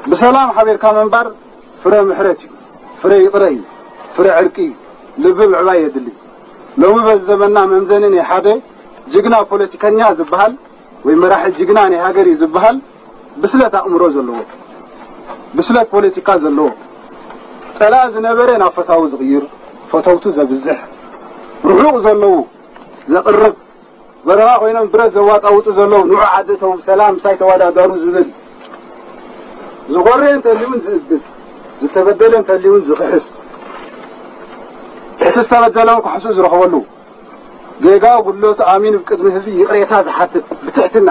ብሰላም ሓቢርካ ምንባር ፍረ ምሕረት እዩ፣ ፍረ ይቕረ እዩ፣ ፍረ ዕርቂ እዩ፣ ልቢ ምዕባይ የድሊ። ሎሚ በዚ ዘመንና መምዘኒ ናይ ሓደ ጅግና ፖለቲከኛ ዝበሃል ወይ መራሒ ጅግና ናይ ሃገር እዩ ዝበሃል ብስለት ኣእምሮ ዘለዎ፣ ብስለት ፖለቲካ ዘለዎ፣ ጸላኢ ዝነበረ ናብ ፈታዊ ዝቕይር፣ ፈተውቱ ዘብዝሕ፣ ርሑቕ ዘለዉ ዘቕርብ፣ በረኻ ኮይኖም ብረት ዘዋጣውጡ ዘለዉ ንዑ ዓዲ እተው ሰላም ምሳይ ተወዳደሩ ዝብል፣ ዝጎረየ እንተልዩን ዝእግድ፣ ዝተበደለ እንተልዩን ዝኽሕስ፣ እቲ ዝተበደለ እውን ካሕሱ ዝረኽበሉ፣ ጌጋ ጉድለቱ ኣሚኑ ቅድሚ ህዝቢ ይቕሬታ ዝሓትት ብትሕትና፣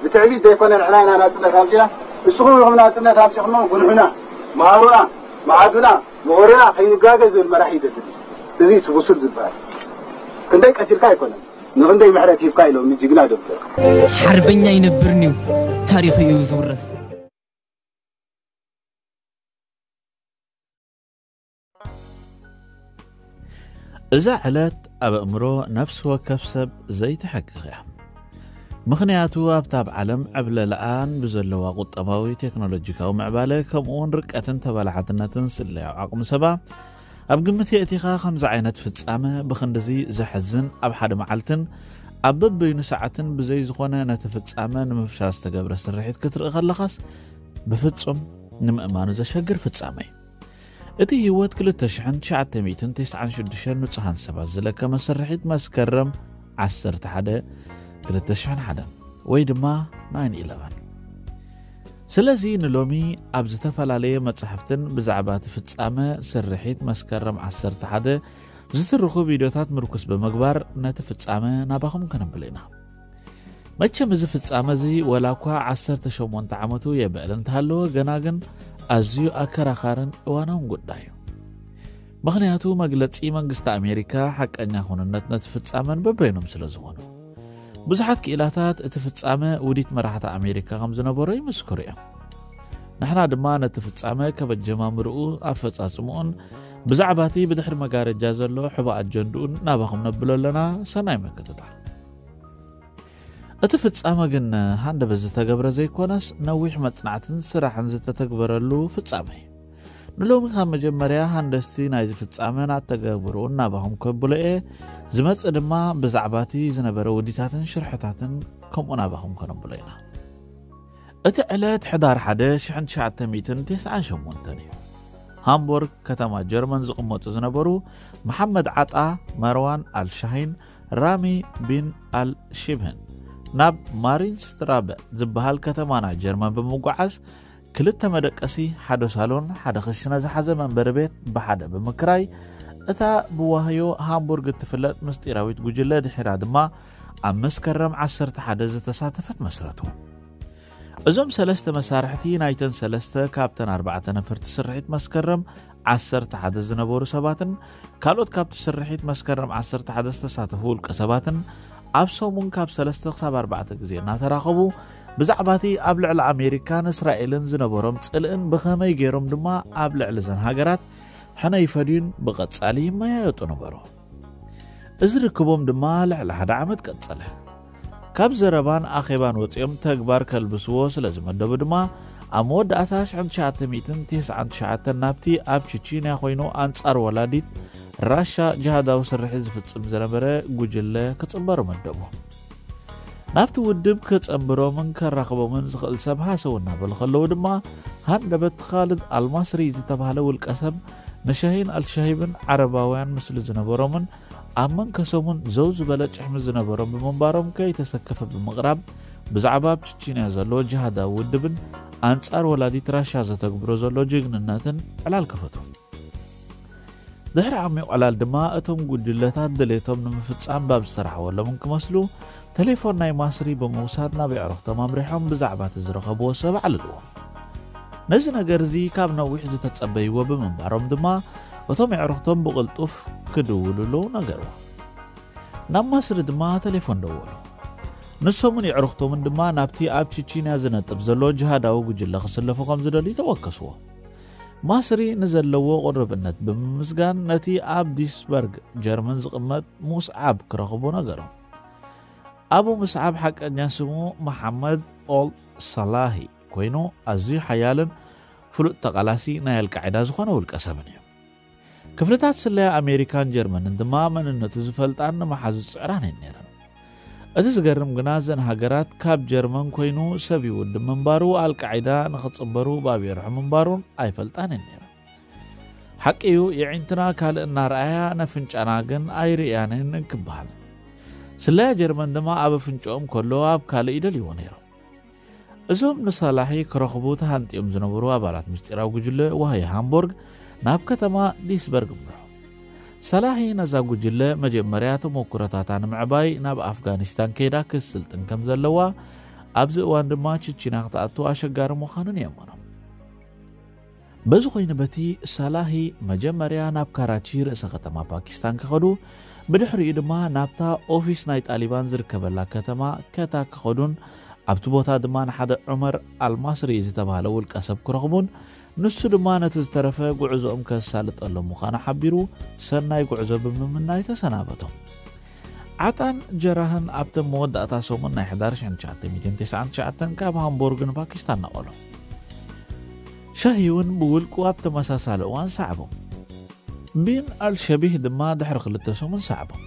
ብትዕቢት ዘይኮነ ንሕና ኢና ናጽነት ኣምጺና፣ ንስኹም ኢኹም ናጽነት ኣምጺኹሞ፣ ጉንሑና፣ መሃሩና፣ መዓዱና፣ ምሁርና ከይንጋገ ዝብል መራሒ ይደድል። እዚ እቲ ብሱል ዝበሃል። ክንደይ ቀቲልካ ኣይኮነን፣ ንኽንደይ ምሕረት ሂብካ ኢሎም ንጅግና ደብደብ። ሓርበኛ ኣይነብርን እዩ፣ ታሪኹ እዩ ዝውረስ። እዛ ዕለት ኣብ ኣእምሮ ነፍሲ ወከፍ ሰብ ዘይትሕክኽ እያ። ምኽንያቱ ኣብታ ኣብ ዓለም ዕብለላኣን ብዘለዋ ቁጠባዊ ቴክኖሎጂካዊ ምዕባለ ከምኡ እውን ርቀትን ተባላሓትነትን ስለያዊ ዓቕሚ ሰባ ኣብ ግምት የእቲኻ ከምዚ ዓይነት ፍጻመ ብኽንድዚ ዘሕዝን ኣብ ሓደ መዓልትን ኣብ በበይኑ ሰዓትን ብዘይ ዝኾነ ነቲ ፍጻመ ንምፍሻ ዝተገብረ ስርሒት ክትርኢ ከለኻስ ብፍጹም ንምእማኑ ዘሸግር ፍጻመ እዩ። እቲ ህይወት ክልተ ሽሕን ትሽዓተ ሚእትን ተስዓን ሽዱሽተን ንጹሃን ሰባት ዝለከመ ስርሒት መስከረም ዓሰርተ ሓደ ክልተ ሽሕን ሓደን ወይ ድማ ናይን ኢለቨን። ስለዚ ንሎሚ ኣብ ዝተፈላለየ መጻሕፍትን ብዛዕባ እቲ ፍጻመ ስርሒት መስከረም ዓሰርተ ሓደ ዝትርኹ ቪድዮታት ምርኩስ ብምግባር ነቲ ፍጻመ ናባኹም ከነብል ኢና። መቸም እዚ ፍጻመ እዚ ወላ እኳ ዓሰርተ ሸሞንተ ዓመቱ የብዕል እንተሃለወ ገና ግን ኣዝዩ ኣከራኻርን እዋናውን ጉዳይ እዩ። ምኽንያቱ መግለጺ መንግስቲ ኣሜሪካ ሓቀኛ ኩንነት ነቲ ፍጻመን በበይኖም ስለ ዝኾኑ። ብዙሓት ክኢላታት እቲ ፍጻመ ውዲት መራሕቲ ኣሜሪካ ከም ዝነበሮ ይምስክሩ እዮም። ንሕና ድማ ነቲ ፍጻመ ከበጀማምርኡ ኣፈጻጽምኡን ብዛዕባ እቲ ብድሕሪ መጋረጃ ዘሎ ሕቡእ ኣጀንድኡን ናባኹም ነብሎ ኣለና። ሰናይ ምክትታል። እቲ ፍጻመ ግን ሃንደበት ዝተገብረ ዘይኮነስ ነዊሕ መጽናዕትን ስራሕን ዝተተግበረሉ ፍጻመ እዩ። ንሎሚ ካብ መጀመርያ ሃንደስቲ ናይዚ ፍጻመን ኣተገብርኡን ናባኹም ከብሎ እየ። ዝመጽእ ድማ ብዛዕባ እቲ ዝነበረ ውዲታትን ሽርሕታትን ከምኡ ናባኹም ከነብሎ ኢና። እቲ ዕለት ሕዳር ሓደ ሽሕን ትሽዓተ ሚእትን ተስዓን ሸሞንተን እዩ። ሃምቦርግ ከተማ ጀርመን ዝቕመጡ ዝነበሩ መሓመድ ዓጣ፣ መርዋን ኣልሻሂን፣ ራሚ ቢን ኣልሺብህን ናብ ማሪንስትራበ ዝበሃል ከተማ ናይ ጀርመን ብምጉዓዝ ክልተ መደቀሲ፣ ሓደ ሳሎን፣ ሓደ ክሽነ ዝሓዘ መንበሪ ቤት ብሓደ ብምክራይ እታ ብዋህዮ ሃምቡርግ እትፍለጥ ምስጢራዊት ጉጅለ ድሒራ ድማ ኣብ መስከረም ዓሰርተ ሓደ ዝተሳተፈት መስረቱ። እዞም ሰለስተ መሳርሕቲ ናይተን ሰለስተ ካብተን ኣርባዕተ ነፈርቲ ስርሒት መስከረም ዓሰርተ ሓደ ዝነበሩ ሰባትን ካልኦት ካብቲ ስርሒት መስከረም ዓሰርተ ሓደ ዝተሳተፉ ውልቀ ሰባትን ኣብ ሰሙን ካብ ሰለስተ ክሳብ ኣርባዕተ ግዜ እናተራኸቡ ብዛዕባ እቲ ኣብ ልዕሊ ኣሜሪካን እስራኤልን ዝነበሮም ጽልእን ብኸመይ ገይሮም ድማ ኣብ ልዕሊ እዘን ሃገራት ሕነ ይፈድዩን ብቐጻሊ ይመያየጡ ነበሩ። እዚ ርክቦም ድማ ልዕሊ ሓደ ዓመት ቀጸለ። ካብ ዘረባን ኣኼባን ወጺኦም ተግባር ከልብስዎ ስለ ዝመደቡ ድማ ኣብ መወዳእታ ሽሕን ትሽዓተ ሚእትን ተስዓን ትሽዓተን ናብቲ ኣብ ቺቺንያ ኮይኑ ኣንጻር ወላዲት ራሻ ጅሃዳዊ ስርሒት ዝፍጽም ዝነበረ ጉጅለ ክጽንበሩ መደቡ። ናብቲ ውድብ ከጸንብሮምን ከራኽቦምን ዝኽእል ሰብ ሃሰው እናበሉ ከለዉ ድማ ሃንደበት ኻልድ ኣልማስሪ ዝተባህለ ውልቀ ሰብ ንሻሂን ኣልሻሂብን ዓረባውያን ምስሊ ዝነበሮምን ኣብ መንከሶምን ዘው ዝበለ ጭሕሚ ዝነበሮም ብምንባሮም ከይተሰከፈ ብምቕራብ ብዛዕባ ኣብ ቺቺንያ ዘሎ ጅሃዳዊ ውድብን ኣንጻር ወላዲት ራሻ ዘተግብሮ ዘሎ ጅግንነትን ዕላል ከፈቱ። ድሕሪ ዓሚቕ ዕላል ድማ እቶም ጉጅለታት ድሌቶም ንምፍጻም ባብ ዝተራሕወሎም እንክመስሉ ተሌፎን ናይ ማስሪ ብምውሳድ ናብ የዕርኽቶም ኣምሪሖም ብዛዕባ እቲ ዝረኸብዎ ሰብ ኣዕልልዎ። ነዚ ነገር እዚ ካብ ነዊሕ ዝተጸበይዎ ብምንባሮም ድማ እቶም የዕርኽቶም ብቕልጡፍ ክድውልሉ ነገርዎ። ናብ ማስሪ ድማ ተሌፎን ደወሉ። ንሶምን የዕርኽቶምን ድማ ናብቲ ኣብ ቺቺንያ ዝነጥፍ ዘሎ ጅሃዳዊ ጉጅለ ክስለፉ ከም ዝደልዩ ተወከስዎ። ማስሪ ንዘለዎ ቅርብነት ብምምስጋን ነቲ ኣብ ዲስበርግ ጀርመን ዝቕመጥ ሙስዓብ ክረኽቦ ነገሮ። ኣቡ ሙስዓብ ሓቀኛ ስሙ መሓመድ ኦል ሳላሂ ኮይኑ ኣዝዩ ሓያልን ፍሉጥ ተቓላሲ ናይ ኣልቃዒዳ ዝኾነ ውልቀ ሰብን እዩ። ክፍልታት ስለያ ኣሜሪካን ጀርመንን ድማ መንነቱ ዝፈልጣን ንመሓዙ ዝጽዕራን እየን ነይረን። እቲ ዝገርም ግና፣ እዘን ሃገራት ካብ ጀርመን ኮይኑ ሰብ ይውድብ ምንባሩ፣ ኣልቃዒዳ ንኽጽንበሩ ባብ የርሑ ምንባሩን ኣይፈልጣን እየን ነይረን። ሓቂ እዩ፣ የዒንትና ካልእ እናረኣያ ነፍንጫና ግን ኣይርእያንን ክበሃል። ስለያ ጀርመን ድማ ኣብ ኣፍንጫኦም ከሎ ኣብ ካልእ ይደልይዎ ነይሮም። እዞም ንሳላሒ ክረኽቡ ተሃንጥዮም ዝነበሩ ኣባላት ምስጢራዊ ጉጅለ ዋህዮ ሃምቦርግ ናብ ከተማ ዲስበርግ ምርሑ። ሳላሒ ነዛ ጉጅለ መጀመርያ ተሞክሮታታ ንምዕባይ ናብ ኣፍጋኒስታን ከይዳ ክትስልጥን ከም ዘለዋ፣ ኣብዚ እዋን ድማ ችቺና ክትኣቱ ኣሸጋሪ ምዃኑን የእምኖም። በዚ ኮይኑ በቲ፣ ሳላሂ መጀመርያ ናብ ካራቺ ርእሰ ከተማ ፓኪስታን ክኸዱ፣ ብድሕሪኡ ድማ ናብታ ኦፊስ ናይ ጣሊባን ዝርከበላ ከተማ ከታ ክኸዱን ኣብቲ ቦታ ድማ ንሓደ ዑመር ኣልማስሪ ዝተባህለ ውልቀ ሰብ ክረኽቡን ንሱ ድማ ነቲ ዝተረፈ ጉዕዞኦም ከሳልጠሎም ምዃኑ ሓቢሩ ሰናይ ጉዕዞ ብምምናይ ተሰናበቶም። ዓጣን ጀራህን ኣብቲ መወዳእታ ሰሙን ናይ ሕዳር ሽሕን ትሽዓተ ሚእትን ተስዓን ትሽዓተን ካብ ሃምቦርግ ንፓኪስታን ነቐሎም። ሻሂ እውን ብውልቁ ኣብ ተመሳሳሊ እዋን ሰዓቦም። ቢን ኣልሸቢህ ድማ ድሕሪ ክልተ ሰሙን ሰዓቦም።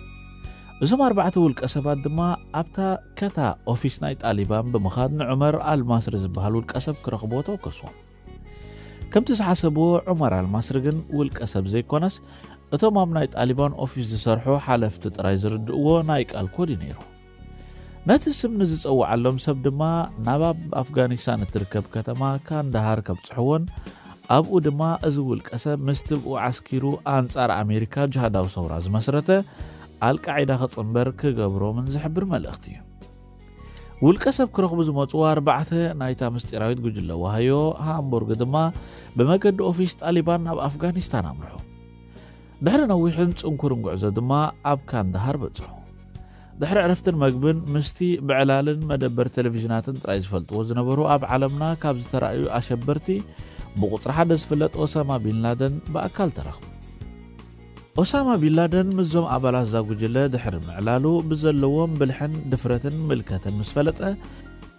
እዞም ኣርባዕተ ውልቀ ሰባት ድማ ኣብታ ከታ ኦፊስ ናይ ጣሊባን ብምኻድ ንዑመር ኣልማስሪ ዝበሃል ውልቀ ሰብ ክረኽብዎ ተወከስዎም። ከምቲ ዝሓሰብዎ፣ ዑመር ኣልማስሪ ግን ውልቀ ሰብ ዘይኮነስ፣ እቶም ኣብ ናይ ጣሊባን ኦፊስ ዝሰርሑ ሓለፍቲ ጥራይ ዝርድእዎ ናይ ቃል ኮድ እዩ ነይሩ። ነቲ ስም ንዝጸውዓሎም ሰብ ድማ ናብ ኣብ ኣፍጋኒስታን እትርከብ ከተማ ካንዳሃር ከብጽሕዎን ኣብኡ ድማ እዚ ውልቀ ሰብ ምስቲ ብኡ ዓስኪሩ ኣንጻር ኣሜሪካ ጅሃዳዊ ሰውራ ዝመስረተ ኣልቃዒዳ ክጽንበር ክገብሮምን ዝሕብር መልእኽቲ እዩ። ውልቀ ሰብ ክረኽቡ ዝመጹ ኣርባዕተ ናይታ ምስጢራዊት ጉጅለ ዋህዮ ሃምቡርግ ድማ ብመገዲ ኦፊስ ጣሊባን ናብ ኣፍጋኒስታን ኣምርሑ። ድሕሪ ነዊሕን ጽንኩርን ጉዕዞ ድማ ኣብ ካንዳሃር በጽሑ። ድሕሪ ዕረፍትን መግብን ምስቲ ብዕላልን መደበር ቴሌቪዥናትን ጥራይ ዝፈልጥዎ ዝነበሩ ኣብ ዓለምና ካብ ዝተራእዩ ኣሸበርቲ ብቁጽሪ ሓደ ዝፍለጥ ኦሳማ ቢን ላደን ብኣካል ተራኽቡ። ኦሳማ ቢን ላደን ምስዞም ኣባላት እዛ ጉጅለ ድሕሪ ምዕላሉ ብዘለዎም ብልሕን ድፍረትን ምልከትን ምስ ፈለጠ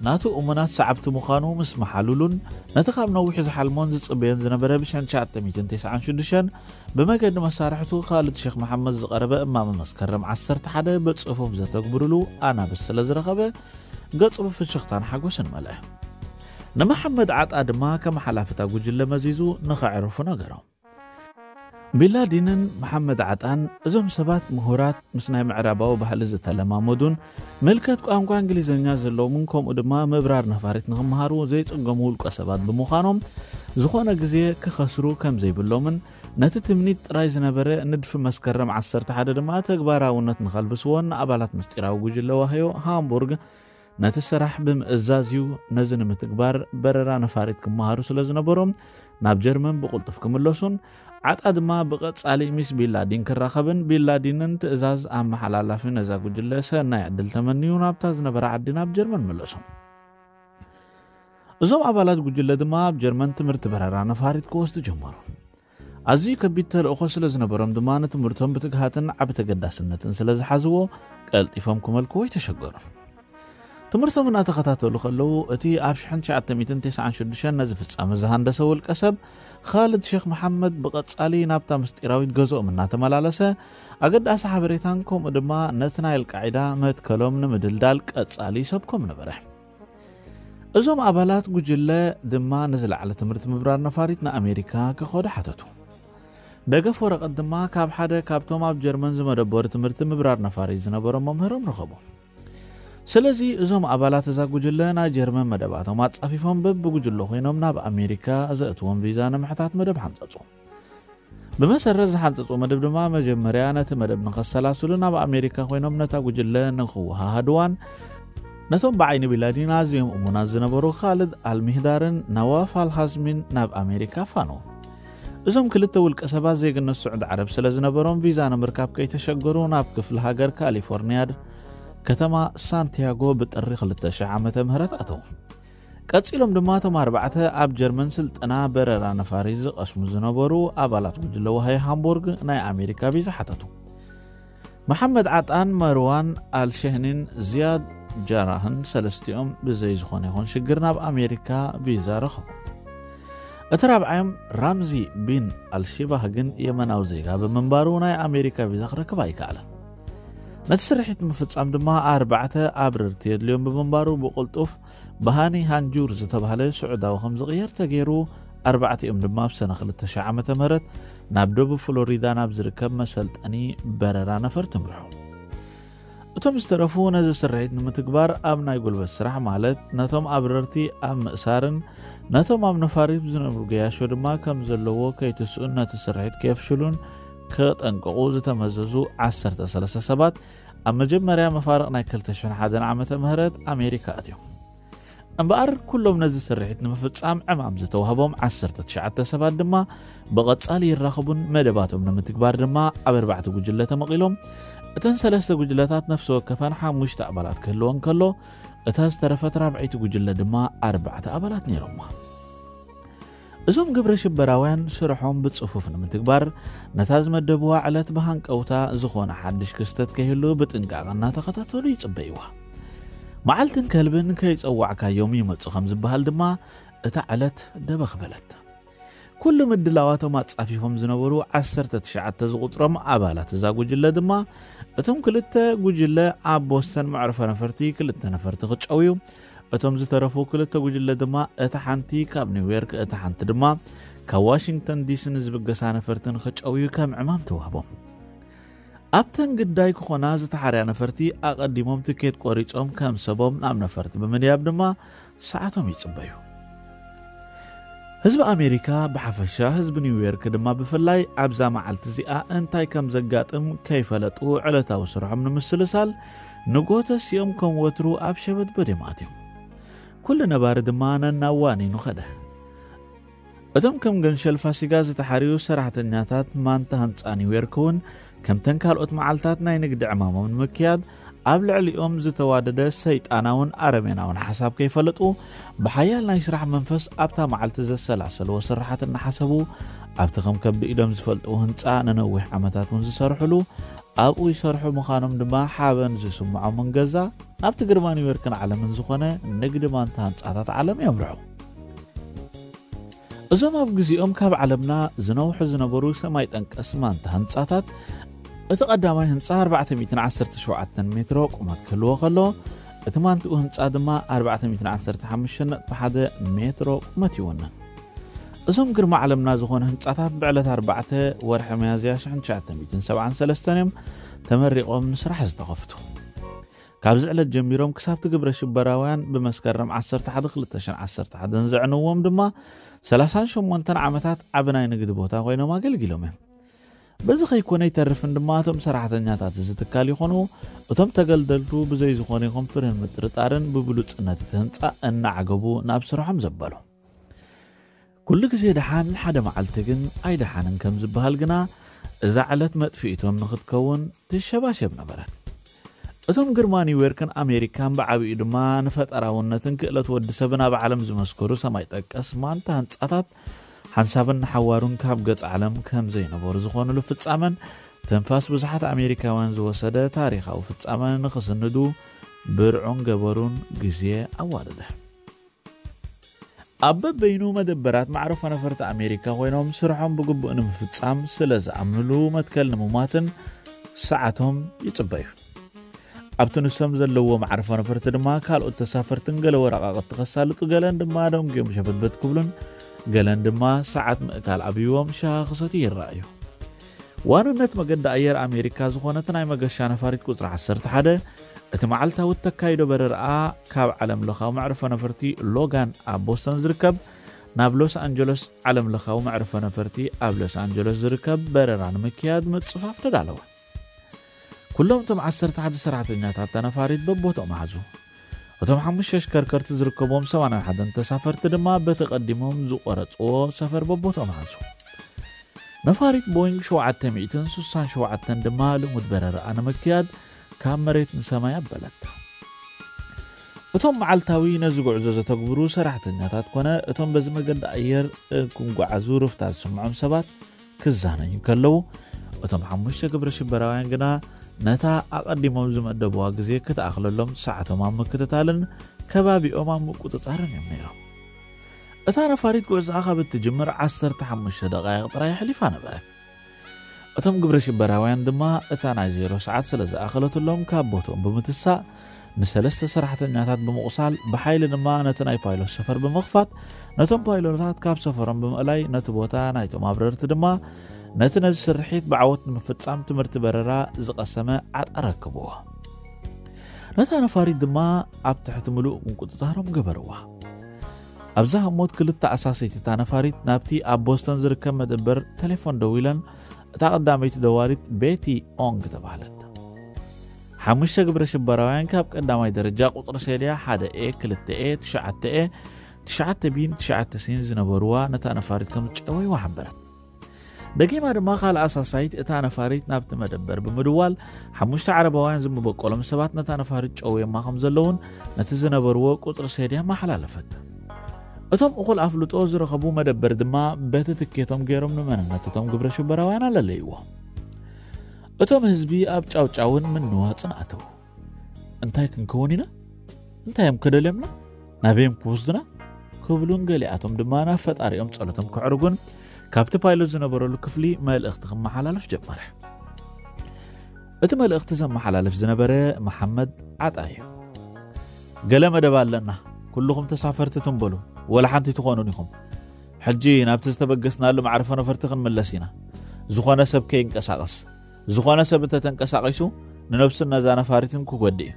ናቱ እሙናት ሰዓብቲ ምዃኑ ምስ መሓሉሉን ነቲ ካብ ነዊሕ ዝሓልሞን ዝጽበዮን ዝነበረ ብሽሕን ትሽዓተ ሚእትን ተስዓን ሽዱሽተን ብመገዲ መሳርሕቱ ካልድ ሼክ መሓመድ ዝቐረበ እማመ መስከረም ዓሰርተ ሓደ ብጽፉፍ ዘተግብሩሉ ኣናብስ ስለ ዝረኸበ ገጹ ብፍሽኽታን ሓጎስን መልአ። ንመሓመድ ዓጣ ድማ ከም ሓላፍታ ጉጅለ መዚዙ ንኸዕርፉ ነገሮም። ቢንላዲንን መሓመድ ዓጣን እዞም ሰባት ምሁራት ምስ ናይ ምዕራባዊ ባህሊ ዝተለማመዱን ምልከት ቋንቋ እንግሊዝኛ ዘለዎምን ከምኡ ድማ ምብራር ነፋሪት ንኽመሃሩ ዘይጽገሙ ውልቀ ሰባት ብምዃኖም ዝኾነ ግዜ ክኸስሩ ከም ዘይብሎምን ነቲ ትምኒት ጥራይ ዝነበረ ንድፊ መስከረም ዓሰርተ ሓደ ድማ ተግባራውነት ንኸልብስዎን ንኣባላት ምስጢራዊ ጉጅለ ዋህዮ ሃምቡርግ ነቲ ስራሕ ብምእዛዝ እዩ። ነዚ ንምትግባር በረራ ነፋሪት ክመሃሩ ስለ ዝነበሮም ናብ ጀርመን ብቕልጡፍ ክምለሱን ዓጣ ድማ ብቐጻሊ ሚስ ቢንላዲን ክራኸብን ቢንላዲንን ትእዛዝ ኣመሓላላፊ ነዛ ጉጅለ ሰናይ ዕድል ተመንዩ ናብታ ዝነበረ ዓዲ ናብ ጀርመን መለሶም። እዞም ኣባላት ጉጅለ ድማ ኣብ ጀርመን ትምህርቲ በረራ ነፋሪት ክወስዱ ጀመሩ። ኣዝዩ ከቢድ ተልእኾ ስለ ዝነበሮም ድማ ንትምህርቶም ብትግሃትን ዓቢ ተገዳስነትን ስለ ዝሓዝዎ ቀልጢፎም ክመልክዎ ይተሸገሩ። ትምህርቶም እናተኸታተሉ ከለዉ እቲ ኣብ ሽሕን ትሽዓተ ሚእትን ተስዓን ሽዱሽተን ነዚ ፍጻመ ዝሃንደሰ ውልቀ ሰብ ኻልድ ሼክ መሓመድ ብቐጻሊ ናብታ ምስጢራዊት ገዝኦም እናተመላለሰ ኣገዳሲ ሓበሬታን ከምኡ ድማ ነቲ ናይ ኣልቃዒዳ መትከሎም ንምድልዳል ቀጻሊ ይሰብኮም ነበረ። እዞም ኣባላት ጉጅለ ድማ ንዝለዓለ ትምህርቲ ምብራር ነፋሪት ንኣሜሪካ ክኸዱ ሓተቱ። ደገፍ ወረቐት ድማ ካብ ሓደ ካብቶም ኣብ ጀርመን ዝመደበሩ ትምህርቲ ምብራር ነፋሪት ዝነበሮም መምህሮም ረኸቡ። ስለዚ እዞም ኣባላት እዛ ጉጅለ ናይ ጀርመን መደባቶም ኣጻፊፎም በብጉጅለ ኮይኖም ናብ ኣሜሪካ ዘእትዎም ቪዛ ንምሕታት መደብ ሓንጸጹ። ብመሰረት ዝሓንጸጹ መደብ ድማ መጀመርያ ነቲ መደብ ንኸሰላስሉ ናብ ኣሜሪካ ኮይኖም ነታ ጉጅለ ንኽወሃሃድዋን ነቶም ብዓይኒ ቢንላዲን ኣዝዮም እሙናት ዝነበሩ ኻልድ ኣልሚህዳርን ነዋፍ ኣልሃዝሚን ናብ ኣሜሪካ ኣፋነዎም። እዞም ክልተ ውልቀ ሰባት ዜግነት ስዑዲ ዓረብ ስለ ዝነበሮም ቪዛ ንምርካብ ከይተሸገሩ ናብ ክፍለ ሃገር ካሊፎርኒያ ከተማ ሳንቲያጎ ብጥሪ ክልተ ሽሕ ዓመተ ምህረት ኣተዉ። ቀጺሎም ድማ እቶም ኣርባዕተ ኣብ ጀርመን ስልጠና በረራ ነፋሪት ዝቐስሙ ዝነበሩ ኣባላት ጉጅለ ዋሃይ ሃምቡርግ ናይ ኣሜሪካ ቪዛ ሓተቱ። መሓመድ ዓጣን መርዋን ኣልሸህኒን ዝያድ ጃራህን ሰለስቲኦም ብዘይ ዝኾነ ይኹን ሽግር ናብ ኣሜሪካ ቪዛ ረኸቡ። እቲ ራብዓዮም ራምዚ ቢን ኣልሺባህ ግን የመናዊ ዜጋ ብምንባሩ ናይ ኣሜሪካ ቪዛ ክረክብ ኣይከኣለን። ነቲ ስርሒት ንምፍጻም ድማ ኣርባዕተ ኣብረርቲ የድልዮም ብምንባሩ ብቕልጡፍ ብሃኒ ሃንጁር ዝተባህለ ስዑዳዊ ከም ዝቕየር ተገይሩ። ኣርባዕቲኦም ድማ ኣብ ሰነ ክልተ ሺሕ ዓመተ ምህረት ናብ ደቡብ ፍሎሪዳ ናብ ዝርከብ መሰልጠኒ በረራ ነፈርቲ ምርሑ። እቶም ዝተረፉ ነዚ ስርሒት ንምትግባር ኣብ ናይ ጉልበት ስራሕ ማለት ነቶም ኣብረርቲ ኣብ ምእሳርን ነቶም ኣብ ነፋሪት ዝነብሩ ገያሾ ድማ ከም ዘለዎ ከይትስኡን ነቲ ስርሒት ከየፍሽሉን ከጠንቀቑ ዝተመዘዙ ዓሰርተ ሰለስተ ሰባት ኣብ መጀመርያ መፋርቕ ናይ ክልተ ሽሕን ሓደን ዓመተ ምህረት ኣሜሪካ ኣትዮም። እምበኣር ኩሎም ነዚ ስርሒት ንምፍጻም ዕማም ዝተዋህቦም ዓሰርተ ትሽዓተ ሰባት ድማ ብቐጻሊ ይራኸቡን መደባቶም ንምትግባር ድማ ኣብ ኣርባዕተ ጉጅለ ተመቒሎም። እተን ሰለስተ ጉጅለታት ነፍሲ ወከፈን ሓሙሽተ ኣባላት ክህልወን ከሎ፣ እታ ዝተረፈት ራብዐይቲ ጉጅለ ድማ ኣርባዕተ ኣባላት ነይሮማ። እዞም ግብረ ሽበራውያን ስርሖም ብጽፉፍ ንምትግባር ነታ ዝመደብዋ ዕለት ብሃንቀውታ ዝኾነ ሓድሽ ክስተት ከይህሉ ብጥንቃቐ እናተኸታተሉ ይጽበይዋ። መዓልትን ከልብን ከይጸዋዕካዮም ይመጹ ከም ዝበሃል ድማ እታ ዕለት ደበኽ በለት። ኩሉ ምድላዋቶም ኣጻፊፎም ዝነበሩ ዓሰርተ ትሽዓተ ዝቑጽሮም ኣባላት እዛ ጉጅለ ድማ እቶም ክልተ ጉጅለ ኣብ ቦስተን መዕርፎ ነፈርቲ ክልተ ነፈርቲ ክጨውዩ፣ እቶም ዝተረፉ ክልተ ጉጅለ ድማ እታ ሓንቲ ካብ ኒውዮርክ እታ ሓንቲ ድማ ካብ ዋሽንግተን ዲሲ ንዝብገሳ ነፈርትን ክጨውዩ ከም ዕማም ተዋህቦም። ኣብተን ግዳይ ክኾና ዝተሓርያ ነፈርቲ ኣቐዲሞም ትኬት ቆሪጾም ከም ሰቦም ናብ ነፈርቲ ብምድያብ ድማ ሰዓቶም ይጽበዩ። ህዝቢ ኣሜሪካ ብሓፈሻ ህዝቢ ኒውዮርክ ድማ ብፍላይ ኣብዛ መዓልቲ እዚኣ እንታይ ከም ዘጋጥም ከይፈለጡ ዕለታዊ ስርሖም ንምስልሳል ንጎተሲኦም ከም ወትሩ ኣብ ሸበድበድ እዮም ኣትዮም። ኩሉ ነባሪ ድማ ነናዋኒኑ ኸደ። እቶም ከም ገንሸል ፋሲጋ ዝተሓርዩ ሰራሕተኛታት ማንታ ህንፃ ኒውዮርክ እውን ከምተን ካልኦት መዓልታት ናይ ንግዲ ዕማሞም ንምክያድ ኣብ ልዕሊኦም ዝተዋደደ ሰይጣናውን ኣረሜናውን ሓሳብ ከይፈለጡ ብሓያል ናይ ስራሕ መንፈስ ኣብታ መዓልቲ ዘሰላሰልዎ ስራሓት እናሓሰቡ ኣብቲ ከም ከብዲ ኢዶም ዝፈልጥዎ ህንፃ ንነዊሕ ዓመታት እውን ዝሰርሕሉ ኣብኡ ይሰርሑ ምዃኖም ድማ ሓበን ዝስምዖምን ገዛ ናብቲ ግርማ ኒውዮርክን ዓለምን ዝኾነ ንግዲ ማንታ ህንፃታት ዓለም የምርሑ። እዞም ኣብ ግዜኦም ካብ ዓለምና ዝነውሑ ዝነበሩ ሰማይ ጠንቀስ ማንታ ህንፃታት እቲ ቀዳማይ ህንፃ ኣርባዕተ ሚእትን ዓሰርተ ሸውዓተን ሜትሮ ቁመት ክህልዎ ከሎ እቲ ማንትኡ ህንፃ ድማ ኣርባዕተ ሚእትን ዓሰርተ ሓሙሽተ ነጥቢ ሓደ ሜትሮ ቁመት ይውንን። እዞም ግርማ ዓለምና ዝኾነ ህንፃታት ብዕለት ኣርባዕተ ወርሒ መያዝያ ሽሕን ትሽዓተ ሚእትን ሰብዓን ሰለስተን እዮም ተመሪቖም ንስራሕ ዝተኸፍቱ። ካብዚ ዕለት ጀሚሮም ክሳብቲ ግብረ ሽበራውያን ብመስከረም ዓሰርተ ሓደ ክልተ ሽሕን ዓሰርተ ሓደን ዘዕነዎም ድማ ሰላሳን ሸሞንተን ዓመታት ዓቢ ናይ ንግዲ ቦታ ኮይኖም ኣገልጊሎም እዮም። በዚ ከይኮነ ይተርፍን ድማ እቶም ሰራሕተኛታት እዚ ትካል ይኾኑ እቶም ተገልደልቱ ብዘይ ዝኾነ ይኹን ፍርህን ምጥርጣርን ብብሉጽነት እቲ ህንጻ እናዓገቡ ናብ ስርሖም ዘበሉ። ኩሉ ግዜ ደሓን፣ ሓደ መዓልቲ ግን ኣይደሓንን ከም ዝበሃል ግና እዛ ዕለት መጥፍኢቶም ንኽትከውን ትሸባሸብ ነበረት። እቶም ግርማ ኒውዮርክን ኣሜሪካን ብዓቢኡ ድማ ንፈጠራውነትን ክእለት ወዲ ሰብን ኣብ ዓለም ዝመስከሩ ሰማይ ጠቀስ ማንታ ህንጻታት ሓንሳብን ንሓዋሩን ካብ ገጽ ዓለም ከም ዘይነበሩ ዝኾኑሉ ፍጻመን ትንፋስ ብዙሓት ኣሜሪካውያን ዝወሰደ ታሪኻዊ ፍጻመ ንኽስንዱ ብርዑን ገበሩን ግዜ ኣዋደደ። ኣብ በበይኑ መደበራት ማዕረፎ ነፈርቲ ኣሜሪካ ኮይኖም ስርሖም ብግቡእ ንምፍጻም ስለ ዝኣምንሉ መትከል ንምሟትን ሰዓቶም ይጽበዩ። ኣብቲ ንሶም ዘለዎ ማዕረፎ ነፈርቲ ድማ ካልኦት ተሳፈርትን ገለ ወረቓቕቲ ከሳልጡ ገለን ድማ ደንጉዮም ሸበትበት ክብሉን ገለን ድማ ሰዓት ምእካል ኣብይዎም ሻሂ ክሰትዩ ይረኣዩ። ዋንነት መገዲ ኣየር ኣሜሪካ ዝኾነት ናይ መገሻ ነፋሪት ቁጽሪ ዓሰርተ ሓደ እቲ መዓልታዊ እተካይዶ በረራኣ ካብ ዓለም ለኻዊ መዕርፎ ነፈርቲ ሎጋን ኣብ ቦስተን ዝርከብ ናብ ሎስ ኣንጀለስ ዓለም ለኻዊ መዕርፎ ነፈርቲ ኣብ ሎስ ኣንጀለስ ዝርከብ በረራ ንምክያድ ምጽፋፍ ተዳለወ። ኩሎም እቶም ዓሰርተ ሓደ ሰራሕተኛታት እታ ነፋሪት በቦትኦም ሓዙ። እቶም ሓሙሽተ ኣሽከርከርቲ ዝርከብዎም ሰማንያን ሓደን ተሳፈርቲ ድማ በቲ ቀዲሞም ዝቆረጽዎ ሰፈር በቦትኦም ሓዙ። ነፋሪት ቦይንግ ሸውዓተ ሚእትን ስሳን ሸውዓተን ድማ ልሙድ በረራኣ ንምክያድ ካብ መሬት ንሰማይ ኣበለት። እቶም መዓልታዊ ነዚ ጉዕዞ ዘተግብሩ ሰራሕተኛታት ኮነ እቶም በዚ መገዲ ኣየር እንክጓዓዙ ርፍታ ዝስምዖም ሰባት ክዛነዩ ከለዉ፣ እቶም ሓሙሽተ ግብረ ሽበራውያን ግና ነታ ኣቐዲሞም ዝመደብዋ ግዜ ክትኣኽለሎም ሰዓቶም ኣብ ምክትታልን ከባቢኦም ኣብ ምቁጽጻርን እዮም ነይሮም። እታ ነፋሪት ጉዕዛኣ ካብ እትጅምር ዓሰርተ ሓሙሽተ ደቃይቕ ጥራይ ኣሕሊፋ ነበረት። እቶም ግብረ ሽበራውያን ድማ እታ ናይ ዜሮ ሰዓት ስለ ዝኣኸለትሎም ካብ ቦትኦም ብምትሳእ ንሰለስተ ሰራሕተኛታት ብምቑሳል ብሓይሊ ድማ ነቲ ናይ ፓይሎት ሰፈር ብምኽፋት ነቶም ፓይሎታት ካብ ሰፈሮም ብምእላይ ነቲ ቦታ ናይቶም ኣብረርቲ ድማ ነቲ ነዚ ስርሒት ብዓወት ንምፍጻም ትምህርቲ በረራ ዝቐሰመ ዓጣ ረክብዎ። ነታ ነፋሪት ድማ ኣብ ትሕቲ ምሉእ ምቁጽጻሮም ገበርዋ። ኣብዛ ህሞት ክልተ ኣሳሰይቲ እታ ነፋሪት ናብቲ ኣብ ቦስተን ዝርከብ መደበር ቴሌፎን ደዊለን እታ ቀዳመይቲ ደዋሊት ቤቲ ኦንግ ተባህለት። ሓሙሽተ ግብረ ሽበራውያን ካብ ቀዳማይ ደረጃ ቁጽሪ ሴድያ ሓደ ኤ፣ ክልተ ኤ፣ ትሽዓተ ኤ፣ ትሽዓተ ቢን ትሽዓተ ሲን ዝነበርዋ ነታ ነፋሪት ከም ዝጨወይዋ ሓበረት። ደጊማ ድማ ካልእ ኣሳሳይት እታ ነፋሪት ናብቲ መደበር ብምድዋል ሓሙሽተ ዓረባውያን ዝመበቆሎም ሰባት ነታ ነፋሪት ጨውዮማ ከም ዘለውን ነቲ ዝነበርዎ ቁጽሪ ሴድያ መሓላለፈት። እቶም እኹል ኣፍልጦ ዝረኸቡ መደበር ድማ በቲ ትኬቶም ገይሮም ንመንነት እቶም ግብረ ሽበራውያን ኣለለይዎ። እቶም ህዝቢ ኣብ ጫውጫውን ምንዋጽን ኣተዉ። እንታይ ክንከውን ኢና? እንታይ እዮም ከደልዮምና? ናበይ እዮም ክወስዱና? ክብሉን ገሊኣቶም ድማ ናብ ፈጣሪኦም ጸሎቶም ከዕርጉን ካብቲ ፓይሎት ዝነበረሉ ክፍሊ መልእኽቲ ክመሓላለፍ ጀመረ። እቲ መልእኽቲ ዘመሓላልፍ ዝነበረ መሓመድ ዓጣ እዩ። ገለ መደብ ኣለና፣ ኩልኹም ተሳፈርቲ ትንበሉ፣ ወላ ሓንቲ ትኾኑን ኢኹም። ሕጂ ናብቲ ዝተበገስናሉ መዕረፎ ነፈርቲ ክንምለስ ኢና። ዝኾነ ሰብ ከይንቀሳቐስ። ዝኾነ ሰብ እንተተንቀሳቒሱ ንነብሱን ነዛ ነፋሪትን ክጎድእ እዩ።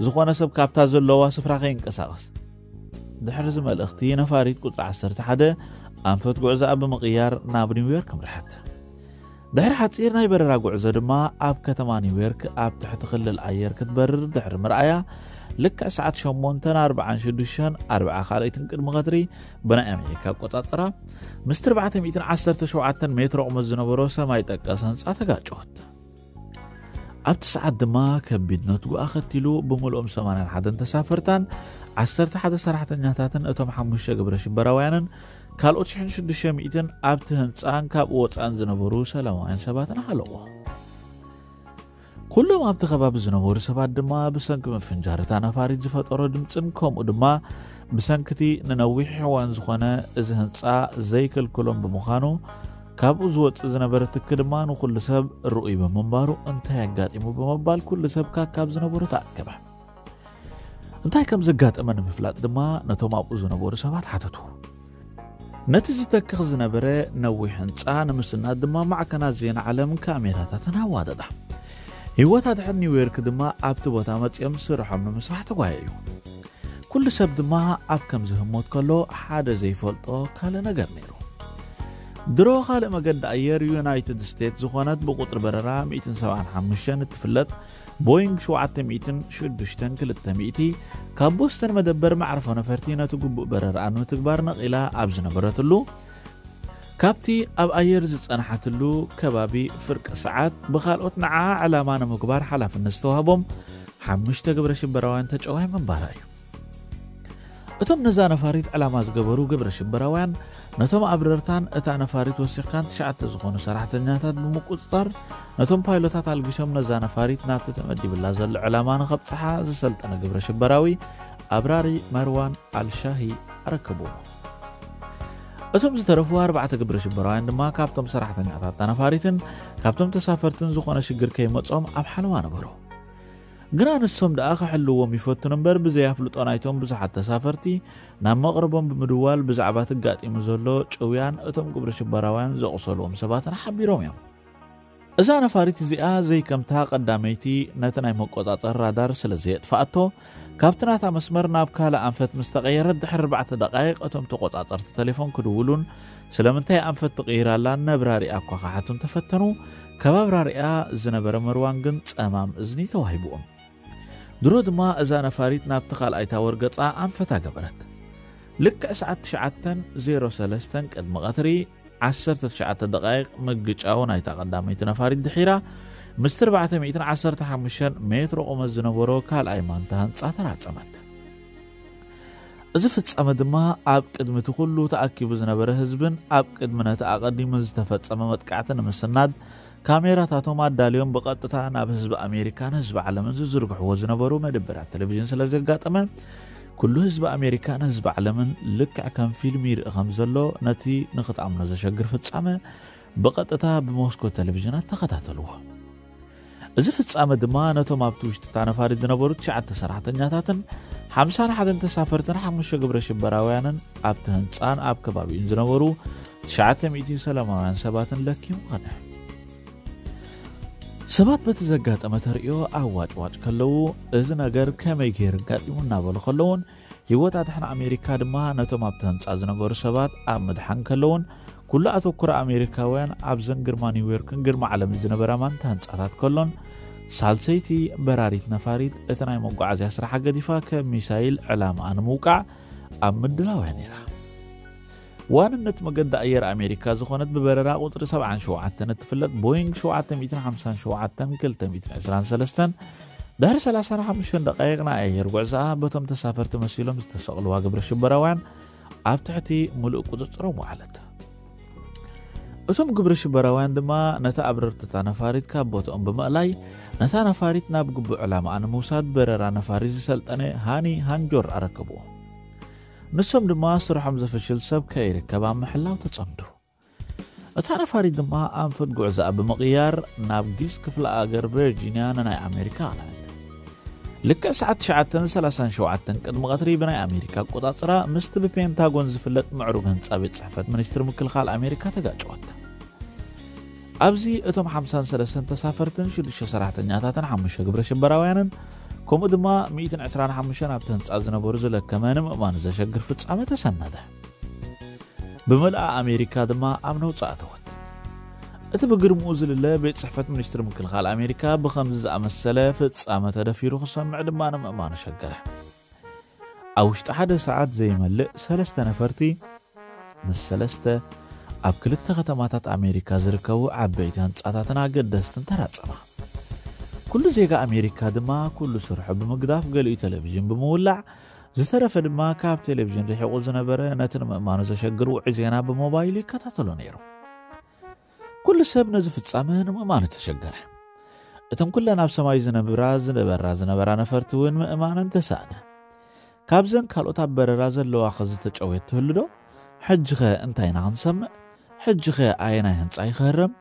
ዝኾነ ሰብ ካብታ ዘለዋ ስፍራ ከይንቀሳቐስ። ድሕሪ እዚ መልእኽቲ ነፋሪት ቁጽሪ ዓሰርተ ሓደ ኣንፈት ጉዕዛኣ ብምቕያር ናብ ኒውዮርክ ኣምርሐት። ድሕሪ ሓጺር ናይ በረራ ጉዕዞ ድማ ኣብ ከተማ ኒውዮርክ ኣብ ትሕቲ ክልል ኣየር ክትበርር ድሕሪ ምርኣያ ልክዕ ሰዓት ሸሞንተን ኣርብዓን ሽዱሽተን ኣርብዓ ካልኣይትን ቅድሚ ቀትሪ ብናይ ኣሜሪካ ኣቆጻጽራ ምስ ኣርባዕተ ሚእትን ዓሰርተ ሸውዓተን ሜትሮ ቁመት ዝነበሮ ሰማይ ጠቀስ ህንጻ ተጋጨወት። ኣብቲ ሰዓት ድማ ከቢድ ነትጉ ኣኸቲሉ ብምልኦም ሰማንያን ሓደን ተሳፈርታን ዓሰርተ ሓደ ሰራሕተኛታትን እቶም ሓሙሽተ ግብረ ሽበራውያንን ካልኦት ሽሕን ሽዱሽተ ሚእትን ኣብቲ ህንጻን ካብኡ ወጻእን ዝነበሩ ሰላማውያን ሰባትን ሃለቑ። ኩሎም ኣብቲ ከባቢ ዝነበሩ ሰባት ድማ ብሰንኪ ምፍንጃር እታ ነፋሪት ዝፈጠሮ ድምጽን ከምኡ ድማ ብሰንክቲ ንነዊሕ እዋን ዝኾነ እዚ ህንጻ ዘይክልክሎም ብምዃኑ ካብኡ ዝወጽእ ዝነበረ ትኪ ድማ ንኹሉ ሰብ ርኡይ ብምንባሩ እንታይ ኣጋጢሙ ብምባል ኩሉ ሰብ ካብ ዝነበሩ ተኣከበ። እንታይ ከም ዘጋጠመ ንምፍላጥ ድማ ነቶም ኣብኡ ዝነበሩ ሰባት ሓተቱ። ነቲ ዝተክኽ ዝነበረ ነዊሕ ህንጻ ንምስናድ ድማ ማዕከናት ዜና ዓለም ካሜራታተን ኣዋደዳ። ህይወት ኣድሕን ኒውዮርክ ድማ ኣብቲ ቦታ መጺኦም ስርሖም ንምስራሕ ተጓየዩ። ኩሉ ሰብ ድማ ኣብ ከምዚ ህሞት ከሎ ሓደ ዘይፈልጦ ካልእ ነገር ነይሩ። ድሮ ካልእ መገዲ ኣየር ዩናይትድ ስቴትስ ዝኾነት ብቁጽሪ በረራ ሚእትን ሰብዓን ሓሙሽተን እትፍለጥ ቦይንግ ሸውዓተ ሚእትን ሽዱሽተን ክልተ ሚእቲ ካብ ቦስተን መደበር መዕርፎ ነፈርቲ ነቲ ግቡእ በረራኣ ንምትግባር ነቒላ ኣብ ዝነበረትሉ ካብቲ ኣብ ኣየር ዝጸንሓትሉ ከባቢ ፍርቂ ሰዓት ብኻልኦት ንዓ ዕላማ ንምግባር ሓላፍነት ዝተዋህቦም ሓሙሽተ ግብረ ሽበራውያን ተጨዋይ ምንባራ እዩ። እቶም ነዛ ነፋሪት ዕላማ ዝገበሩ ግብረ ሽበራውያን ነቶም ኣብረርታን እታ ነፋሪት ወሲኽካን ትሽዓተ ዝኾኑ ሰራሕተኛታት ብምቁጽጻር ነቶም ፓይሎታት ኣልጊሶም ነዛ ነፋሪት ናብቲ ተመዲብላ ዘሎ ዕላማ ንኸብጽሓ ዝሰልጠነ ግብረ ሽበራዊ ኣብራሪ መርዋን ኣልሻሂ ኣረከብዎ። እቶም ዝተረፉ ኣርባዕተ ግብረ ሽበራውያን ድማ ካብቶም ሰራሕተኛታት እታ ነፋሪትን ካብቶም ተሳፈርትን ዝኾነ ሽግር ከይመጾም ኣብ ሓለዋ ነበሩ። ግና ንሶም ደኣ ክሕልዎም ይፈትኑ እምበር ብዘይ ኣፍልጦ ናይቶም ብዙሓት ተሳፈርቲ ናብ መቕረቦም ብምድዋል ብዛዕባ ተጋጢሙ ዘሎ ጭውያን እቶም ግብረ ሽበራውያን ዘቑሰልዎም ሰባትን ሓቢሮም እዮም። እዛ ነፋሪት እዚኣ ዘይከምታ ቀዳመይቲ ነቲ ናይ መቆጻጸሪ ራዳር ስለ ዘየጥፍኣቶ ካብቲ ናታ መስመር ናብ ካልእ ኣንፈት ምስ ተቐየረት ድሕሪ ኣርባዕተ ደቃይቕ እቶም ተቆጻጸርቲ ተሌፎን ክድውሉን ስለምንታይ ኣንፈት ትቕይር ኣላ ነብራሪኣ እኳ ክሓቱ እንተፈተኑ ካብ ኣብራሪኣ ዝነበረ መርዋን ግን ጸማም እዝኒ ተዋሂብዎም። ድሮ ድማ እዛ ነፋሪት ናብቲ ካልኣይ ታወር ገጻ ኣንፈታ ገበረት። ልክዕ ሰዓት ትሽዓተ ዜሮ ሰለስተ ቅድሚ ቀትሪ ዓሰርተ ትሽዓተ ደቃይቕ ምግጫው ናይታ ቀዳመይቲ ነፋሪት ድሒራ ምስቲ ኣርባዕተ ሚእትን ዓሰርተ ሓሙሽተን ሜትሮ ቁመት ዝነበሮ ካልኣይ ማንታ ህንጻ ተራጸመት። እዚ ፍጻመ ድማ ኣብ ቅድሚ እቲ ኩሉ ተኣኪቡ ዝነበረ ህዝብን ኣብ ቅድሚ ነቲ ኣቐዲሙ ዝተፈጸመ መጥቃዕቲ ንምስናድ ካሜራታቶም ኣዳልዮም ብቐጥታ ናብ ህዝቢ ኣሜሪካን ህዝቢ ዓለምን ዝዝርግሕዎ ዝነበሩ መደበራት ቴሌቪዥን ስለ ዘጋጠመ ኩሉ ህዝቢ ኣሜሪካን ህዝቢ ዓለምን ልክዕ ከም ፊልም ይርኢ ከም ዘሎ ነቲ ንኽትኣምኖ ዘሸግር ፍጻመ ብቐጥታ ብሞስኮ ቴሌቪዥናት ተኸታተልዎ። እዚ ፍጻመ ድማ ነቶም ኣብቲ ውሽጢ እታ ነፋሪት ዝነበሩ ትሽዓተ ሰራሕተኛታትን ሓምሳን ሓደን ተሳፈርትን ሓሙሽተ ግብረ ሽበራውያንን ኣብቲ ህንጻን ኣብ ከባቢኡን ዝነበሩ ትሽዓተ ሚእቲ ሰላማውያን ሰባትን ለኪሙ ኸደ። ሰባት በቲ ዘጋጠመ ተርእዮ ኣዋጭዋጭ ከለዉ፣ እዚ ነገር ከመይ ገይሩ ኣጋጢሙ እናበሉ ከለዉን፣ ህይወት ኣድሓን ኣሜሪካ ድማ ነቶም ኣብቲ ህንጻ ዝነበሩ ሰባት ኣብ ምድሓን ከለዉን፣ ኩሉ ኣተኩሮ ኣሜሪካውያን ኣብዘን ግርማ ኒውዮርክን ግርማ ዓለምን ዝነበራ ማንታ ህንጻታት ከሎን፣ ሳልሰይቲ በራሪት ነፋሪት እቲ ናይ መጓዓዝያ ስራሓ ገዲፋ ከም ሚሳይል ዕላማኣ ንምውቃዕ ኣብ ምድላው እያ ነይራ። ዋንነት መገዲ ኣየር ኣሜሪካ ዝኾነት ብበረራ ቁጽሪ ሰብዓን ሸውዓተን እትፍለጥ ቦይንግ ሸውዓተ ሚእትን ሓምሳን ሸውዓተን ክልተ ሚእትን ዕስራን ሰለስተን ድሕሪ ሰላሳን ሓሙሽተን ደቃይቕ ናይ ኣየር ጉዕዞኣ በቶም ተሳፈርቲ መሲሎም ዝተሰቕልዋ ግብረ ሽበራውያን ኣብ ትሕቲ ምሉእ ቁጽጽሮም ወዓለት። እቶም ግብረ ሽበራውያን ድማ ነታ ኣብረርቲ እታ ነፋሪት ካብ ቦትኦም ብምእላይ ነታ ነፋሪት ናብ ግቡእ ዕላማኣ ንምውሳድ በረራ ነፋሪት ዝሰልጠነ ሃኒ ሃንጆር ኣረከብዎ። ንሶም ድማ ስርሖም ዘፈሽል ሰብ ከይርከብ ኣብ ምሕላው ተጸምዱ። እታ ነፋሪት ድማ ኣንፈት ጉዕዞኣ ብምቕያር ናብ ጊስ ክፍለ ኣገር ቨርጂንያ ንናይ ኣሜሪካ ኣቕነዐት። ልክዕ ሰዓት ትሽዓተን ሰላሳን ሸውዓተን ቅድሚ ቀትሪ ብናይ ኣሜሪካ ኣቆጻጽራ ምስቲ ብፔንታጎን ዝፍለጥ ምዕሩግ ህንጻ ቤት ጽሕፈት ሚኒስትሪ ምክልኻል ኣሜሪካ ተጋጨወት። ኣብዚ እቶም ሓምሳን ሰለስተን ተሳፈርትን ሽዱሽተ ሰራሕተኛታትን ሓሙሽተ ግብረ ሽበራውያንን ከምኡ ድማ ሚእትን ዕስራን ሓሙሽተን ኣብቲ ህንጻ ዝነበሩ ዝለከመ ንምእማኑ ዘሸግር ፍጻመ ተሰነደ። ብምልኣ ኣሜሪካ ድማ ኣብ ነውጻ ኣተወት። እቲ ብግርምኡ ዝልለ ቤት ጽሕፈት ሚኒስትሪ ምክልኻል ኣሜሪካ ብኸምዚ ዝኣመሰለ ፍጻመ ተደፊሩ ክሰምዕ ድማ ንምእማኑ ሸገረ። ኣብ ውሽጢ ሓደ ሰዓት ዘይመልእ ሰለስተ ነፈርቲ ምስ ሰለስተ ኣብ ክልተ ከተማታት ኣሜሪካ ዝርከቡ ዓበይቲ ህንጻታትን ኣገደስትን ተራጸማ። ኩሉ ዜጋ ኣሜሪካ ድማ ኩሉ ስርሑ ብምግዳፍ ገሊኡ ቴሌቪዥን ብምውላዕ ዝተረፈ ድማ ካብ ቴሌቪዥን ርሒቑ ዝነበረ ነቲ ንምእማኑ ዘሸግር ውዑይ ዜና ብሞባይሉ ይከታተሎ ነይሩ። ኩሉ ሰብ ነዚ ፍጻመ ንምእማኑ ተሸገረ። እተን ኩለን ኣብ ሰማይ ዝነብራ ዝነበራ ዝነበራ ነፈርቲ እውን ምእማነን ተሳእነ። ካብዘን ካልኦት ኣብ በረራ ዘለዋ ኸ ዝተጨውየት ትህሉ ዶ? ሕጂ ኸ እንታይ ኢና ክንሰምዕ? ሕጂ ኸ ኣየናይ ህንጻ ይኸረም?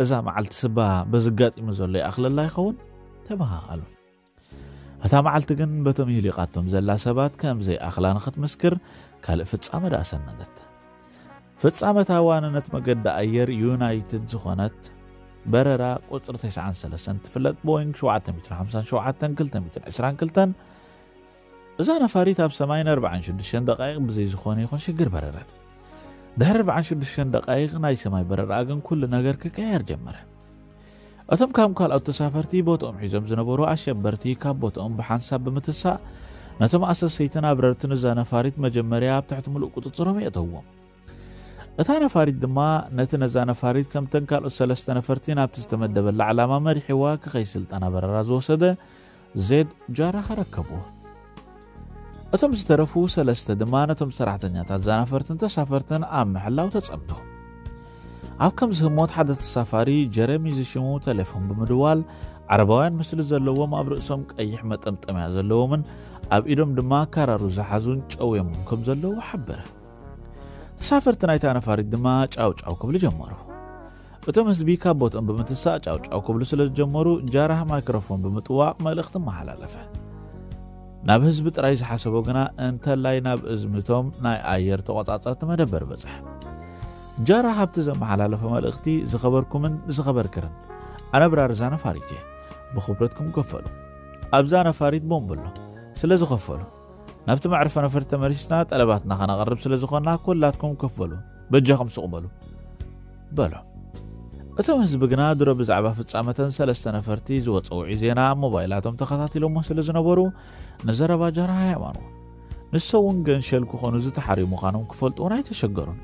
እዛ መዓልቲ ስባ በዚ ኣጋጢሙ ዘሎ ይኣኽለላ ይኸውን? ተበሃሃሉ። እታ መዓልቲ ግን በቶም ይህሊቓቶም ዘላ ሰባት ከም ዘይኣኽላ ንኽትምስክር ካልእ ፍጻመ ደኣ ሰነደት። ፍጻመ እታ ዋንነት መገዲ ኣየር ዩናይትድ ዝኾነት በረራ ቁጽሪ ተስዓን ሰለስተን ትፍለጥ ቦይንግ ሸውዓተ ሚእትን ሓምሳን ሸውዓተን ክልተ ሚእትን ዕስራን ክልተን እዛ ነፋሪት ኣብ ሰማይ ንኣርባዓን ሽዱሽተን ደቃይቕ ብዘይ ዝኾነ ይኹን ሽግር በረረት። ድሕሪ ኣርባዓን ሽዱሽተን ደቃይቕ ናይ ሰማይ በረራ ግን ኩሉ ነገር ክቀየር ጀመረ። እቶም ካብ ካልኦት ተሳፈርቲ ቦትኦም ሒዞም ዝነበሩ ኣሸበርቲ ካብ ቦትኦም ብሓንሳብ ብምትሳእ ነቶም ኣሰሰይትን ኣብረርትን እዛ ነፋሪት መጀመርያ ኣብ ትሕቲ ምሉእ ቁጽጽሮም የእተውዎም። እታ ነፋሪት ድማ ነቲ ነዛ ነፋሪት ከምተን ካልኦት ሰለስተ ነፈርቲ ናብቲ ዝተመደበላ ዕላማ መሪሕዋ ክኸይ ስልጠና በረራ ዝወሰደ ዜድ ጃራህ ኣረከብዎ። እቶም ዝተረፉ ሰለስተ ድማ ነቶም ሰራሕተኛታት እዛ ነፈርትን ተሳፈርትን ኣብ ምሕላው ተጸምዱ። ኣብ ከምዚ ህሞት ሓደ ተሳፋሪ ጀረሚ ዝሽሙ ቴሌፎን ብምድዋል ዓረባውያን ምስሊ ዘለዎም ኣብ ርእሶም ቀይሕ መጠምጠምያ ዘለዎምን ኣብ ኢዶም ድማ ካራሩ ዝሓዙን ጨውዮምን ከም ዘለዉ ሓበረ። ተሳፈርቲ ናይታ ነፋሪት ድማ ጫው ጫው ክብሉ ጀመሩ። እቶም ህዝቢ ካብ ቦትኦም ብምትሳእ ጫው ጫው ክብሉ ስለ ዝጀመሩ ጃራህ ማይክሮፎን ብምጥዋቕ መልእኽቲ መሓላለፈ። ናብ ህዝቢ ጥራይ ዝሓሰቦ ግና እንተላይ ናብ እዝምቶም ናይ ኣየር ተቖጻጸርቲ መደበር በጽሐ። ጃራህ ኣብቲ ዘመሓላለፎ መልእኽቲ ዝኸበርኩምን ዝኸበርክርን ኣነ ብራር እዛ ነፋሪት እየ። ብኽብረትኩም ከፈሉ። ኣብዛ ነፋሪት ቦምብ ኣሎ። ስለ ዝኸፈሉ ናብቲ መዕርፎ ነፈርቲ ተመሊስና ጠለባትና ከነቐርብ ስለ ዝኾንና ኩላትኩም ከፈሉ። በጃኹም ስቕ በሉ በሎ። እቶም ህዝቢ ግና ድሮ ብዛዕባ ፍጻመተን ሰለስተ ነፈርቲ ዝወጸ ውዑይ ዜና ኣብ ሞባይላቶም ተኸታቲሎሞ ስለ ዝነበሩ ንዘረባ ጃራህ ኣየማንዎ። ንሶም እውን ገንሸል ክኾኑ ዝተሓርዩ ምዃኖም ክፈልጡ እውን ኣይተሸገሩን።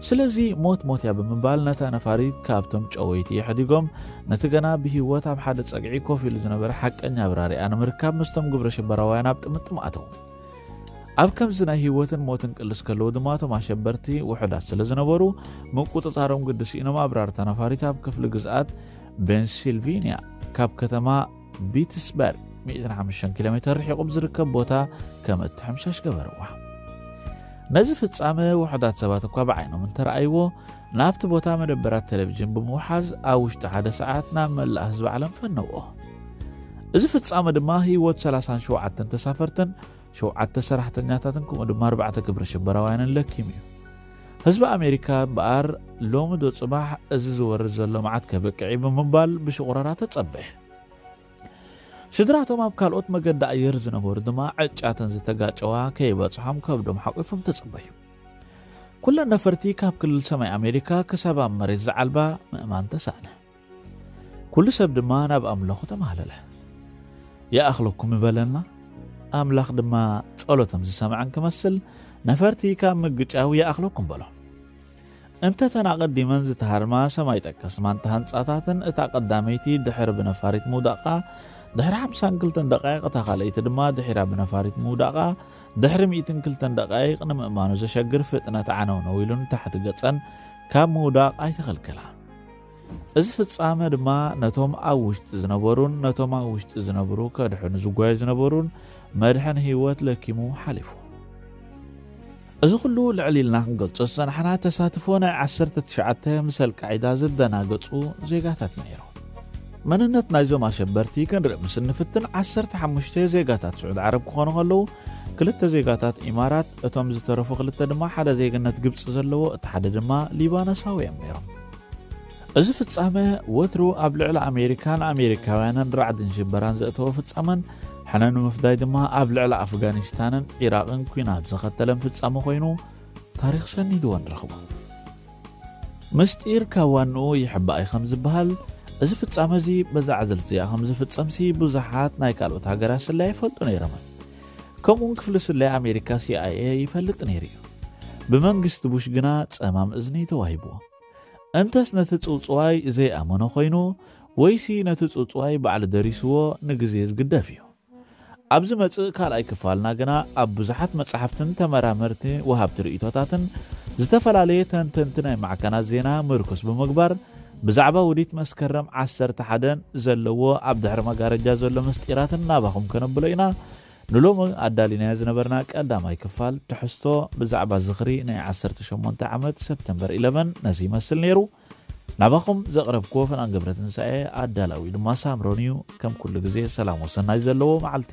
ስለዚ ሞት ሞት እያ ብምባል ነታ ነፋሪት ካብቶም ጨወይቲ የሕዲጎም ነቲ ገና ብህይወት ኣብ ሓደ ጸግዒ ኮፍ ኢሉ ዝነበረ ሓቀኛ ኣብራሪኣ ንምርካብ ምስቶም ግብረ ሽበራውያን ኣብ ጥምጥም ኣተዉ። ኣብ ከምዚ ናይ ህይወትን ሞትን ቅልስ ከለዉ ድማ እቶም ኣሸበርቲ ውሑዳት ስለ ዝነበሩ ምቁጽጻሮም ግዲ ስኢኖም ኣብራርታ ነፋሪት ኣብ ክፍሊ ግዝኣት ፔንሲልቪንያ ካብ ከተማ ፒትስበርግ ሚእትን ሓሙሽተን ኪሎ ሜትር ርሒቑ ብዝርከብ ቦታ ከም እትሕምሸሽ ገበርዋ። ነዚ ፍጻመ ውሑዳት ሰባት እኳ ብዓይኖም እንተረኣይዎ፣ ናብቲ ቦታ መደበራት ቴሌቪዥን ብምውሓዝ፣ ኣብ ውሽጢ ሓደ ሰዓት ናብ መላእ ህዝቢ ዓለም ፈነውኦ። እዚ ፍጻመ ድማ ህይወት ሰላሳን ሸውዓተን ተሳፈርትን ሸውዓተ ሰራሕተኛታትን ከምኡ ድማ ኣርባዕተ ግብረ ሽበራውያንን ለኪሙ እዩ። ህዝቢ ኣሜሪካ እምበኣር፣ ሎሚ ዶ ጽባሕ እዚ ዝወርድ ዘሎ መዓት ከብቅዕ እዩ ብምባል ብሽቑረራ ተጸበየ። ስድራቶም ኣብ ካልኦት መገዲ ኣየር ዝነበሩ ድማ ዕጫተን ዝተጋጨዋ ከይበጽሖም ከብዶም ሓቂፎም ተጸበዩ። ኩለን ነፈርቲ ካብ ክልል ሰማይ ኣሜሪካ ክሳብ ኣብ መሬት ዝዓልባ ምእማን ተሳእነ። ኩሉ ሰብ ድማ ናብ ኣምላኹ ተማህለለ። "ይኣኽለኩም" ይበለና። ኣምላኽ ድማ ጸሎቶም ዝሰምዐን ክመስል፣ ነፈርቲ ካብ ምግጫው "ይኣኽለኩም" በሎ። እንተ ተን ኣቐዲመን ዝተሃርማ ሰማይ ጠቀስ ማንታ ህንጻታትን እታ ቀዳመይቲ ድሕሪ ብነፋሪት ምውዳቓ ድሕሪ ሓምሳን ክልተን ደቃይቕ፣ እታ ካልኣይቲ ድማ ድሒራ ብነፋሪት ምውዳቓ ድሕሪ ሚእትን ክልተን ደቃይቕ ንምእማኑ ዘሸግር ፍጥነት ዓነውነው ኢሉ ንታሕቲ ገጸን ካብ ምውዳቕ ኣይተኸልከላ። እዚ ፍጻመ ድማ ነቶም ኣብ ውሽጢ ዝነበሩን ነቶም ኣብ ውሽጢ ዝነብሩ ከድሕኑ ዝጓዩ ዝነበሩን መድሕን ህይወት ለኪሙ ሓሊፉ። እዚ ኩሉ ልዕል ኢልና ክንገልጾ ዝጸናሕና ተሳትፎ ናይ ዓሰርተ ትሽዓተ ምስ ኣልቃዒዳ ዝደናገጹ ዜጋታት ነይሩ። መንነት ናይዞም ኣሸበርቲ ክንርኢ ምስ እንፍትን፣ ዓሰርተ ሓሙሽተ ዜጋታት ስዑድ ዓረብ ክኾኑ ከለዉ፣ ክልተ ዜጋታት ኢማራት፣ እቶም ዝተረፉ ክልተ ድማ ሓደ ዜግነት ግብጺ ዘለዎ፣ እቲ ሓደ ድማ ሊባኖሳዊ እዮም ነይሮም። እዚ ፍጻመ ወትሩ ኣብ ልዕሊ ኣሜሪካን ኣሜሪካውያንን ራዕድን ሽበራን ዘእተወ ፍጻመን፣ ሕነ ንምፍዳይ ድማ ኣብ ልዕሊ ኣፍጋኒስታንን ዒራቕን ኲናት ዘኸተለን ፍጻመ ኮይኑ ታሪኽ ሰኒድዎ ንረኽቦ። ምስጢር ካብ ዋንኡ ይሕባእ እዩ ከም ዝበሃል፣ እዚ ፍጻመ እዚ በዛ ዕዝልቲ እዚኣ ከም ዝፍጸምሲ ብዙሓት ናይ ካልኦት ሃገራት ስለያ ይፈልጡ ነይሮም። ከምኡውን ክፍሊ ስለያ ኣሜሪካ፣ ሲ ኣይ ኤ፣ ይፈልጥ ነይሩ እዩ። ብመንግስቲ ቡሽ ግና ጸማም እዝኒ ተዋሂብዎ። እንተስ ነቲ ጽውጽዋይ ዘይኣመኖ ኮይኑ፣ ወይሲ ነቲ ጽውጽዋይ ባዕሉ ደሪስዎ ንግዜ ዝግደፍ እዩ። ኣብ ዝመጽእ ካልኣይ ክፋልና ግና ኣብ ብዙሓት መጻሕፍትን ተመራመርቲ ወሃብቲ ርእይቶታትን ዝተፈላለየ ተንተንቲ ናይ ማዕከናት ዜና ምርኩስ ብምግባር ብዛዕባ ውዲት መስከረም ዓሰርተ ሓደን ዘለዎ ኣብ ድሕሪ መጋረጃ ዘሎ ምስጢራትን ናባኹም ከነብሎ ኢና። ንሎሚ ኣዳሊናዮ ዝነበርና ቀዳማይ ክፋል ትሕዝቶ ብዛዕባ ዝኽሪ ናይ ዓሰርተ ሸሞንተ ዓመት ሰፕተምበር ኢለቨን ነዚ ይመስል ነይሩ። ናባኹም ዘቕረብክዎ ፈናን ገብረትንሳኤ፣ ኣዳላዊ ድማ ሳምሮን እዩ። ከም ኩሉ ግዜ ሰላም ወሰናይ ዘለዎ መዓልቲ።